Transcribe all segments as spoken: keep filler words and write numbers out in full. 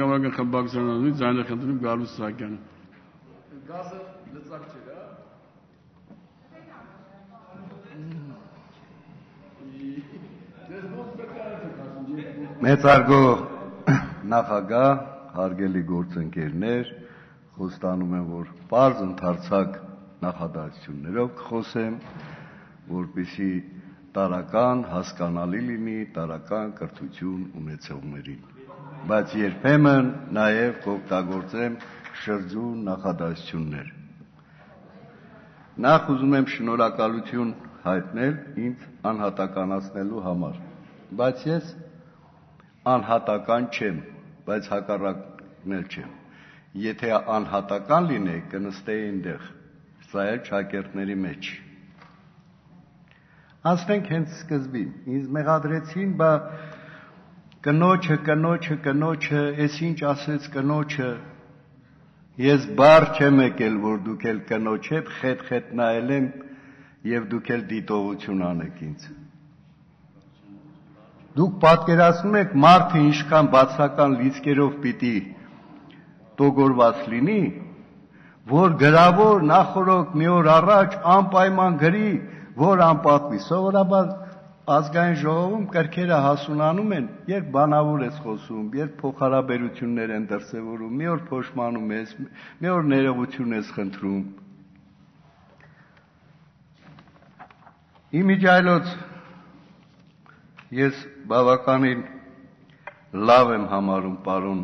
Գավագը խմբակցությունից ձայնը խնդրում Գալուս Սահակյանը։ Գազը լծակ չէր, հա։ Մեծարգո նախագահ, հարգելի գործընկերներ, խոստանում եմ, որ պարզ ընդարձակ նախադասություններով կխոսեմ, որպեսզի տարական հասկանալի լինի տարական կրթություն ունեցողներին, բայց երբեմն նաև կօգտագործեմ շրջուն նախադասություններ։ Նախ ուզում եմ շնորհակալություն հայտնել ինձ անհատականացնելու համար, բայց ես անհատական չեմ, բայց հակառակն էլ չեմ։ Եթե անհատական լինեի, կնստեի այնտեղ, սա էլ շակերտների մեջ։ Ասենք հենց սկզբին, ինձ մեղադրեցին, բա կնոջը, կնոջը, կնոջը, ես ինչ ասեց կնոջը, ես բառ չեմ եկել, որ դուք էլ կնոջ հետ խետ-խետ նայել եմ և դուք էլ դիտողություն անեք ինձ։ Դուք պատկերացնում եք մարդը ինչքան բացական լիցքերով պիտի տոգորված լինի, որ գրավոր նախորոք մի օր առաջ անպայման գրի, որ անպատվի։ Սովորաբար ազգային ժողովում կրքերը հասունանում են, երբ բանավոր ես խոսում, երբ փոխհարաբերություններ են դրսևորում, մի օր փոշմանում ես, մի օր ներողություն ես խնդրում։ Իմիջիայլոց ես բավականին լավ եմ համարում պարոն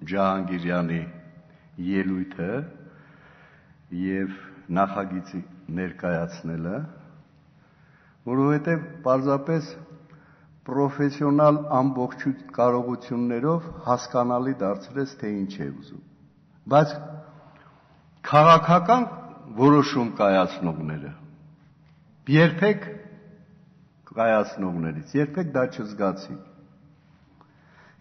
Ջահանգիրյանի ելույթը և նախագիծի ներկայացնելը, որովհետև պարզապես պրոֆեսիոնալ ամբողջ կարողություններով հասկանալի դարձրեց, թե ինչ է ուզում։ Բայց քաղաքական որոշում կայացնողները երբեք կայացնողներից, երբեք դա չզգացի։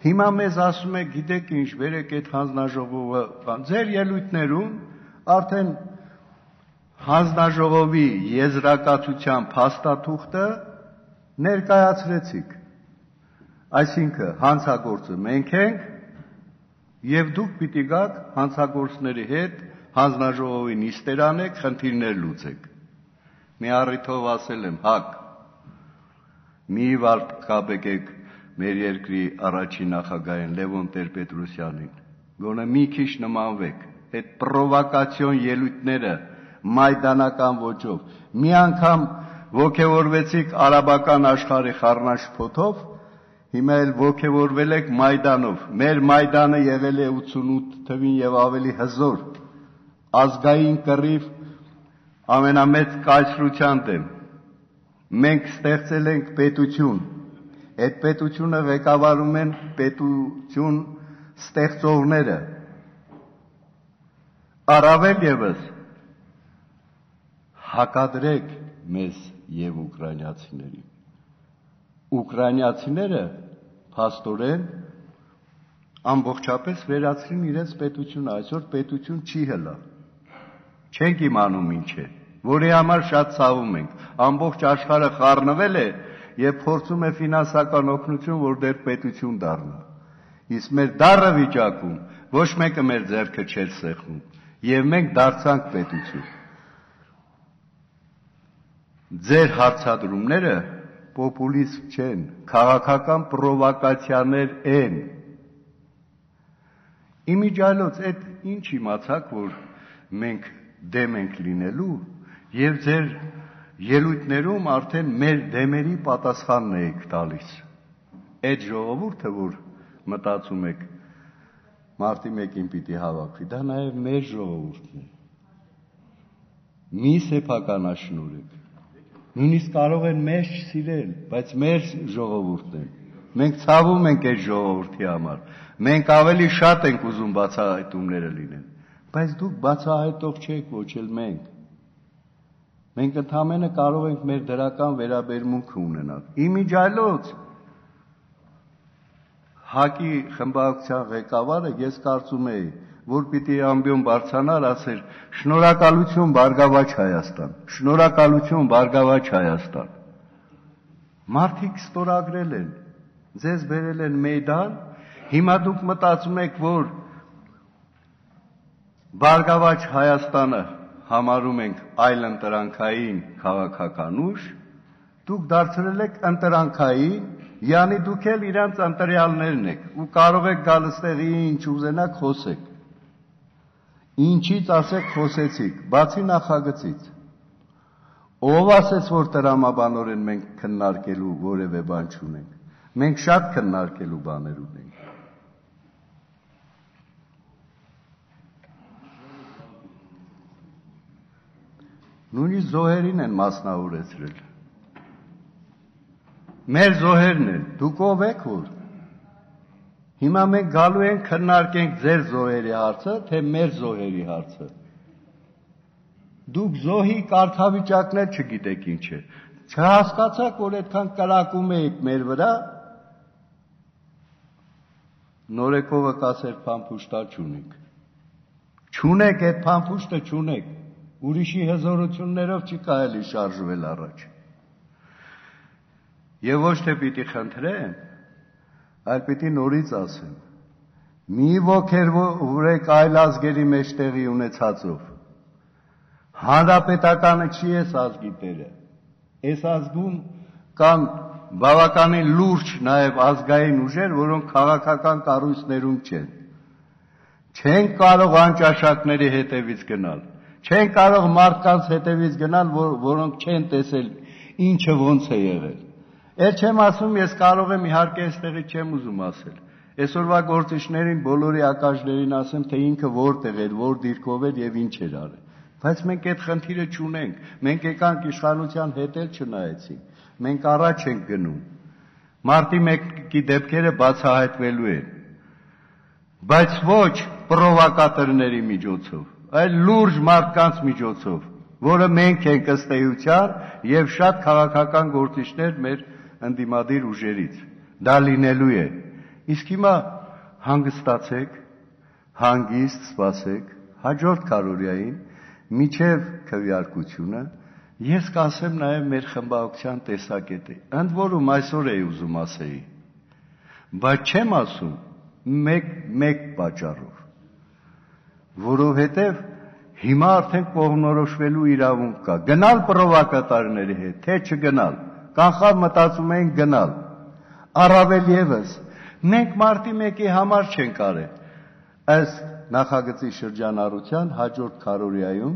Հիմա մեզ ասում է, գիտեք ինչ, վերեք այդ հանձնաժողովը, ձեր ելույթներում արդեն հանձնաժողովի եզրակացության փաստաթուղթը ներկայացրեցիք, այսինքն հանցագործը մենք ենք և դուք պիտի գաք հանցագործների հետ հանձնաժողովի նիստեր անեք, խնդիրներ լուծեք։ Մի առիթով ասել եմ, հակ, մի վարկաբեկեք մեր երկրի առաջին նախագահին Լևոն Տեր-Պետրոսյանին, գոնե մի քիչ նմանվեք, այդ պրովոկացիոն ելույթները մայդանական ոճով, մի անգամ ոգևորվեցիք արաբական աշխարհի խառնաշփոթով, հիմա էլ ոգևորվել եք Մայդանով, մեր Մայդանը եղել է ութսունութ թվին և ավելի հզոր, ազգային կռիվ ամենամեծ կայսրության դեմ, մենք ստեղծել ենք պետություն, այդ պետությունը ղեկավարում են պետություն ստեղծողները, առավել ևս հակադրեք մեզ և ուկրաինացիներին։ Ուկրաինացիները փաստորեն ամբողջապես վերացրին իրենց պետությունը, այսօր պետություն չի հլա, չենք իմանում ինչ է, որի համար շատ ցավում ենք, ամբողջ աշխարհը խառնվել է և փորձում է ֆինանսական օգնություն, որ դեռ պետություն դառնա, իսկ մեր դառը վիճակում ոչ մեկը մեր ձեռքը չէր սեղմում և մենք դարձանք պետություն։ Ձեր հարցադրումները պոպուլիզմ չեն, քաղաքական պրովոկացիաներ են։ Իմիջիայլոց այդ ինչ իմացաք, որ մենք դեմ ենք լինելու և ձեր ելույթներում արդեն մեր դեմերի պատասխանն եք տալիս։ Այդ ժողովուրդը, որ մտածում եք մարտի մեկին պիտի հավաքվի, դա նաև մեր ժողովուրդն է։ Մի սեփականաշնորհեք։ Նույնիսկ կարող են մեզ չսիրել, բայց մեր ժողովուրդն են։ Մենք ցավում ենք այդ ժողովրդի համար։ Մենք ավելի շատ ենք ուզում բացահայտումները լինեն, բայց դուք բացահայտող չեք, ոչ էլ մենք։ Մենք ընդամենը կարող ենք մեր դրական վերաբերմունքը ունենալ։ Իմիջիայլոց ՀԱԿ-ի խմբակցության ղեկավարը ես կարծում էի, որ պիտի ամբիոն բարձրանար, ասեր շնորհակալություն Բարգավաճ Հայաստան, շնորհակալություն Բարգավաճ Հայաստան։ Մարդիկ ստորագրել են, ձեզ բերել են Մեյդան Հիմա դուք մտածում եք, որ Բարգավաճ Հայաստանը համարում ենք այլ ընտրանքային քաղաքական ուժ, դուք դարձրել եք ընտրանքային, յանի դուք էլ իրանց ընտրյալներն եք ու կարող եք գալ ստեղ ինչ ուզենաք խոսեք։ Ինչից ասեք խոսեցիք, բացի նախագծից։ Ով ասեց, որ տրամաբանորեն մենք քննարկելու որևէ բան չունենք։ Մենք շատ քննարկելու բաներ ունենք։ Նույնիսկ զոհերին են մասնավորեցրել։ Մեր զոհերն են, դուք ով եք որ։ Հիմա մենք գալու ենք քննարկենք ձեր զոհերի հարցը, թե մեր զոհերի հարցը։ Դուք զոհի կարգավիճակներ չգիտեք ինչ է։ Չհասկացաք, որ այդքան կրակում եք մեր վրա, նորեկովը կասեր փամփուշտա չունենք։ Չունեք այդ փամփուշտը չունեք։ Ուրիշի հզորություններով չի կարելի շարժվել առաջ։ Եվ ոչ թե պիտի խնդրեմ, այլ պիտի նորից ասեմ։ Մի ոգևորեք այլ ազգերի մեջ տեղի ունեցածով։ Հանրապետականը չի էս ազգի տերը։ Այս ազգում կան բավականին լուրջ նաև ազգային ուժեր, որոնք քաղաքական կառույցներում չեն։ Չեն կարող անճաշակների հետևից գնալ։ Չեն կարող մարդկանց հետևից գնալ, որ, որոնք չեն տեսել ինչը ոնց է եղել։ Էլ չեմ ասում, ես կարող եմ իհարկե այստեղից չեմ ուզում ասել։ Այսօրվա գործիչներին, բոլորի ակաժներին ասեմ, թե ինքը որտեղ էր, որ դիրքով էր եւ ինչ էր արել։ Բայց մենք այդ խնդիրը չունենք։ Մենք եկանք իշխանության հետ էլ չնայեցինք։ Մենք առաջ ենք գնում։ Մարտի մեկի դեպքերը բացահայտվելու են։ Բայց ոչ պրովոկատորների միջոցով, այլ լուրջ մարդկանց միջոցով, որը մենք ենք ըստ էության եւ շատ քաղաքական գործիչներ մեր ընդդիմադիր ուժերից։ Դա լինելու է։ Իսկ հիմա հանգստացեք, հանգիստ սպասեք, հաջորդ քարորիային միջև քվեարկությունը ես կասեմ նաև մեր խմբակցության տեսակետը։ Ընդ որում այսօր էի ուզում ասեի, բայց չեմ ասում մեկ մեկ պատճառով, որովհետև հիմա արդեն կողմնորոշվելու իրավունք կա։ Գնալ պրովոկատորների հետ, թե չգնալ, կանխավ մտածում էին գնալ։ Առավել եւս մենք մարտի մեկի համար չենք արել։ Ըստ նախագծի շրջանառության հաջորդ քարորիայում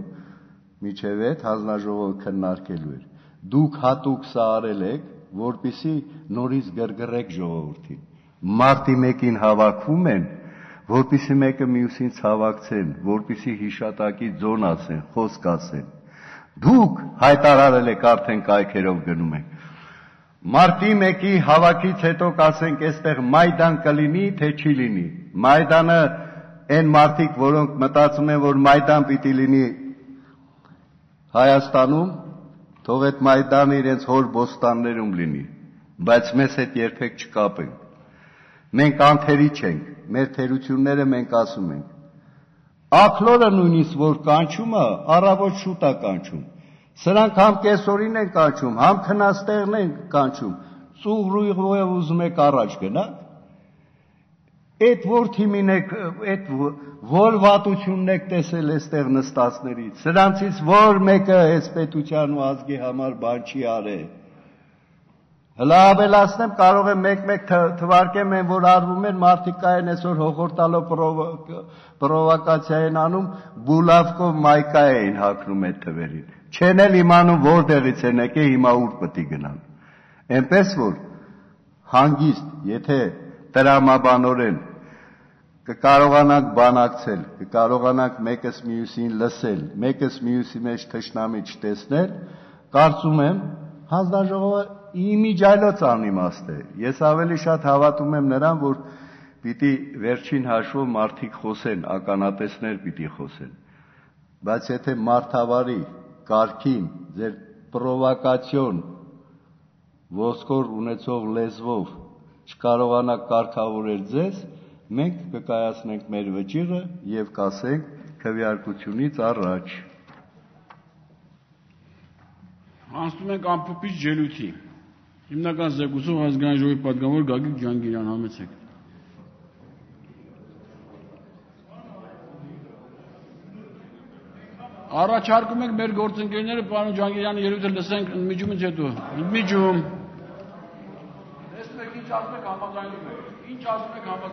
միջև այդ հանձնաժողովը քննարկելու էր։ Դուք հատուկ սա արել եք, որպեսզի նորից գրգռեք ժողովրդին։ Մարտի մեկին հավաքվում են, որպեսզի մեկը մյուսին ցավակցեն, որպեսզի հիշատակի ձոն ասեն, խոսք ասեն։ Դուք հայտարարել եք արդեն կայքերով գնում եք։ Մարտի մեկի հավաքից հետո կասենք, այստեղ Մայդան կլինի, թե չի լինի։ Մայդանը այն մարդիկ, որոնք մտածում են, որ Մայդան պիտի լինի Հայաստանում, թող այդ Մայդանը իրենց հոր բոստաններում լինի, բայց մեզ հետ երբեք չկապենք։ Մենք անթերի չենք, մեր թերությունները մենք ասում ենք։ Աքլորը նույնիսկ որ կանչում է, առավոտ շուտ է կանչում։ Սրանք համ կեսօրին են կանչում, համ քնաստեղն են կանչում։ Ծուղրույղով ուզում եք առաջ գնաք։ Այդ որ թիմին եք, այդ որ վատությունն եք տեսել այստեղ նստածներից, սրանցից որ մեկը այս պետության ու ազգի համար բան չի արել։ Հլա ավելացնեմ, կարող եմ մեկ-մեկ թվարկեմ են, որ արվում են մարդիկ կային այսօր հողորտալով պրովոկացիա են անում, բուլավկով մայկա էին հագնում այդ թվերին։ Չեն էլ իմանում որտեղից են եկել, հիմա ուր պետք է գնան։ Էնպես որ հանգիստ, եթե տրամաբանորեն կկարողանանք բանակցել, կկարողանանք մեկս մյուսին լսել, մեկս մյուսի մեջ թշնամի չտեսնել, կարծում եմ հանձնաժողովը իմիջայլոց անիմաստ է։ Ես ավելի շատ հավատում եմ նրան, որ պիտի վերջին հաշվով մարդիկ խոսեն, ականատեսներ պիտի խոսեն։ Բայց եթե մարդավարի կարգին ձեր պրովոկացիոն ոսկոր ունեցող լեզվով չկարողանաք կարգավորել ձեզ, մենք կկայացնենք մեր վճիռը եւ կասենք քվեարկությունից առաջ։ Անցնում ենք ամփոփիչ ելույթի։ Հիմնական զեկուցող ազգային ժողովի պատգամավոր Գագիկ Ջանգիրյան, համեցեք։ Առաջարկում եք մեր գործընկերները պարոն Ջանգիրյանի ելույթը լսենք ընդմիջումից հետո։ Ընդմիջում։ Տեսնում եք ինչ ասում եք համաձայնում եք։ Ինչ ասում եք համաձայնում